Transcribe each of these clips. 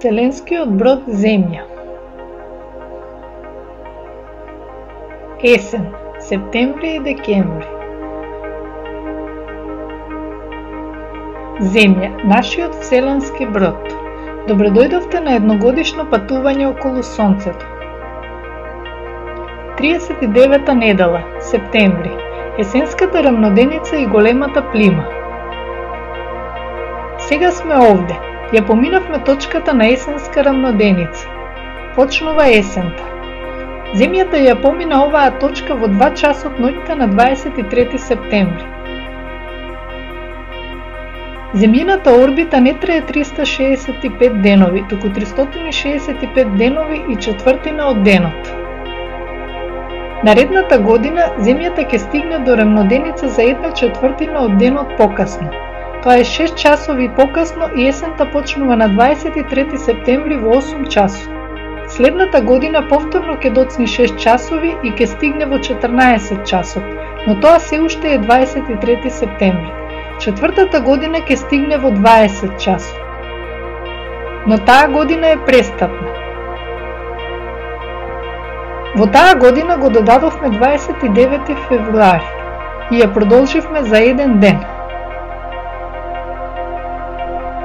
Вселенскиот брод Земја. Есен, септември и декември. Земја, нашиот вселенски брод. Добредојдовте на едногодишно патување околу Сонцето. 39-та недела, септември. Есенската рамноденица и големата плима. Сега сме овде. Ја поминавме точката на есенска рамноденица. Почнува есента. Земјата ја помина оваа точка во 2 часот ноќта на 23 септември. Земјината орбита не трае 365 денови, туку 365 денови и четвртина од денот. Наредната година Земјата ќе стигне до рамноденица за 1/4 од денот покасно. Тоа е 6 часови покасно и есента почнува на 23 септември во 8 часот. Следната година повторно ќе доцни 6 часови и ќе стигне во 14 часот, но тоа се уште е 23 септември. Четвртата година ќе стигне во 20 часот. Но таа година е престапна. Во таа година го додадовме 29 февруари и ја продолживме за еден ден.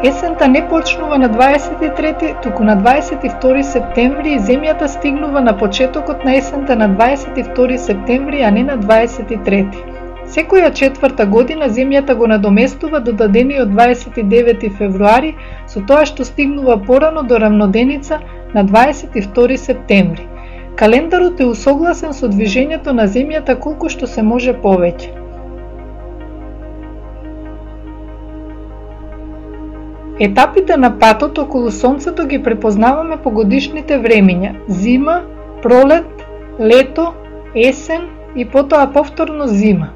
Есента не почнува на 23, туку на 22 септември и Земјата стигнува на почетокот на есента на 22 септември, а не на 23. Секоја четврта година Земјата го надоместува додадениот 29 февруари со тоа што стигнува порано до рамноденица на 22 септември. Календарот е усогласен со движењето на Земјата колку што се може повеќе. Етапите на патот околу Сонцето ги препознаваме по годишните времиња: зима, пролет, лето, есен и потоа повторно зима.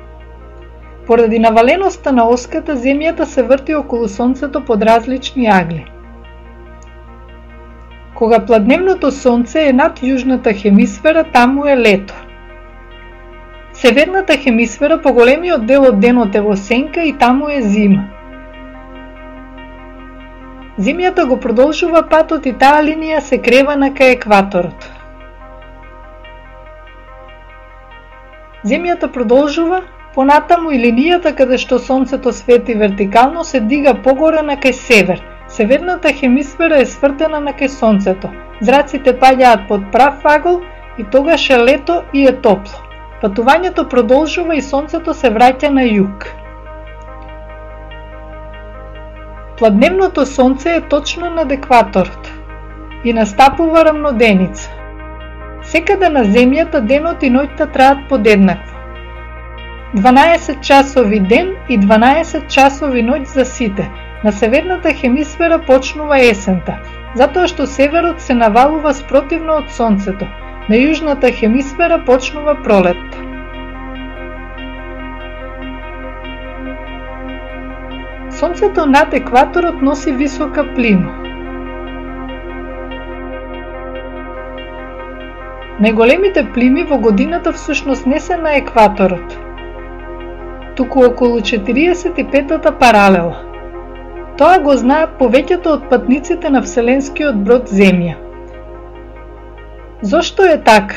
Поради наваленоста на оската, Земјата се врти околу Сонцето под различни агли. Кога пладневното Сонце е над јужната хемисфера, таму е лето. Северната хемисфера поголемиот дел од денот е во сенка и таму е зима. Земјата го продолжува патот и таа линија се крева на кај екваторот. Земјата продолжува понатаму и линијата каде што Сонцето свети вертикално се дига погоре на кај север. Северната хемисфера е свртена на кај Сонцето. Зраците паѓаат под прав агол и тогаш е лето и е топло. Патувањето продолжува и Сонцето се враќа на југ. Пладневното Сонце е точно над екваторот и настапува рамноденица. Секаде на Земјата денот и ноќта траат подеднакво. 12 часови ден и 12 часови ноќ за сите. На северната хемисфера почнува есента, затоа што северот се навалува спротивно од Сонцето. На јужната хемисфера почнува пролет. Сонцето над екваторот носи висока плима. Најголемите плими во годината всушност не се на екваторот, туку околу 45-та паралела. Тоа го знаат повеќето од патниците на вселенскиот брод Земја. Зошто е така?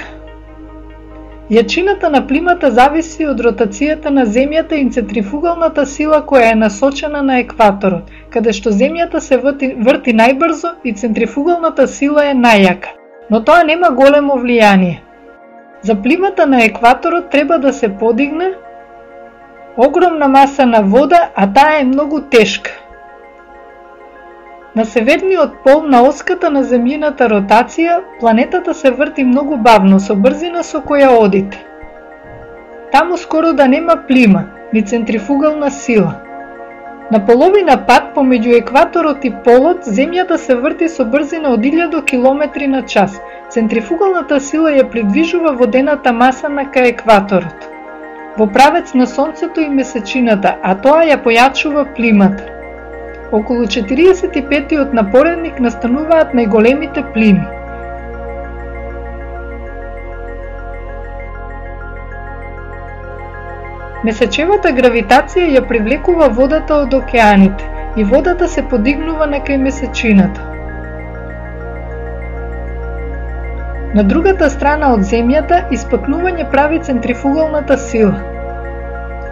Јачината на плимата зависи од ротацијата на Земјата и центрифугалната сила која е насочена на екваторот, каде што Земјата се врти најбрзо и центрифугалната сила е најјака, но тоа нема големо влијание. За плимата на екваторот треба да се подигне огромна маса на вода, а таа е многу тешка. На северниот пол на оската на земјината ротација, планетата се врти многу бавно со брзина со која одите. Таму скоро да нема плима, ни центрифугална сила. На половина пат помеѓу екваторот и полот, Земјата се врти со брзина од 1000 км на час. Центрифугалната сила ја придвижува водената маса на кај екваторот, во правец на Сонцето и месечината, а тоа ја појачува плимата. Околу 45-тиот на поредник настануваат најголемите плими. Месечевата гравитација ја привлекува водата од океаните и водата се подигнува на кај месечината. На другата страна од земјата испакнување прави центрифугалната сила.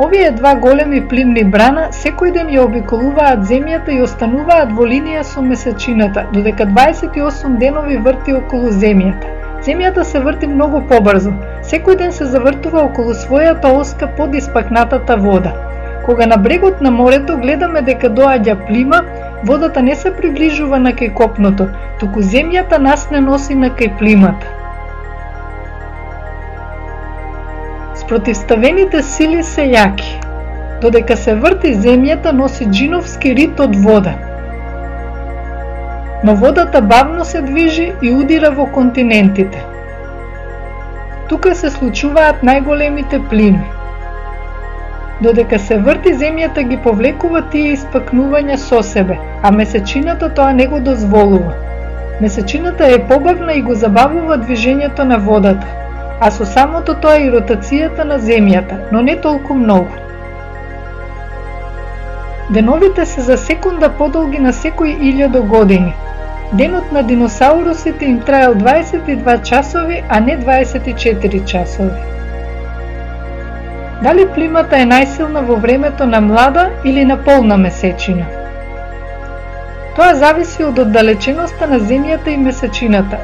Овие два големи плимни брана секој ден ја обиколуваат земјата и остануваат во линија со месечината, додека 28 денови врти околу земјата. Земјата се врти многу побрзо. Секој ден се завртува околу својата оска под испакнатата вода. Кога на брегот на морето гледаме дека доаѓа плима, водата не се приближува на кај копното, туку земјата нас не носи на кај плимата. Спротивставените сили се јаки. Додека се врти земјата носи джиновски рит од вода. Но водата бавно се движи и удира во континентите. Тука се случуваат најголемите плими. Додека се врти земјата ги повлекува тие испакнувања со себе, а месечината тоа не го дозволува. Месечината е побавна и го забавува движењето на водата, а со самото тоа и ротацијата на земјата, но не толку многу. Деновите се за секунда подолги на секој 1000 години. Денот на диносаурусите им траел 22 часови, а не 24 часови. Дали плимата е најсилна во времето на млада или на полна месечина? Тоа зависи од оддалеченоста на земјата и месечината.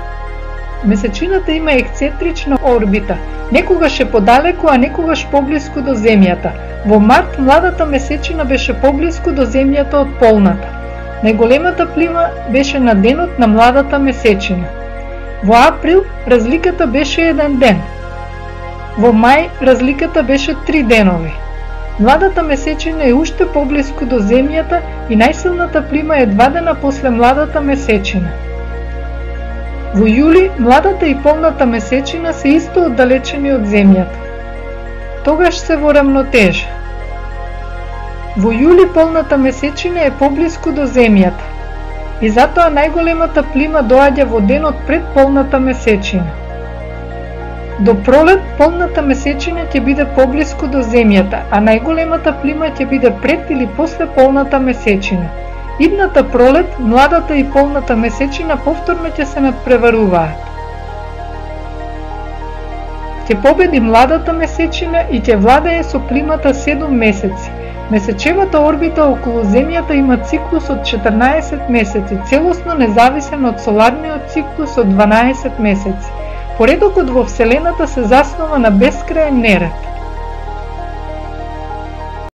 Месечината има ексцентрична орбита, некогаш е подалеку, а некогаш поблиску до земјата. Во март младата месечина беше поблиску до земјата од полната. Најголемата плима беше на денот на младата месечина. Во април разликата беше 1 ден. Во мај разликата беше 3 денови. Младата месечина е уште поблиску до земјата и најсилната плима е 2 дена после младата месечина. Во јули младата и полната месечина се исто оддалечени од земјата. Тогаш се во рамнотежа. Во јули полната месечина е поблиску до земјата и затоа најголемата плима доаѓа во денот пред полната месечина. До пролет полната месечина ќе биде поблиску до земјата, а најголемата плима ќе биде пред или после полната месечина. Идната пролет, младата и полната месечина повторно ќе се надпреваруваат. Ќе победи младата месечина и ќе владее со плимата 7 месеци. Месечевата орбита околу Земјата има циклус од 14 месеци, целосно независен од соларниот циклус од 12 месеци. Поредокот во Вселената се заснова на бескрајен неред.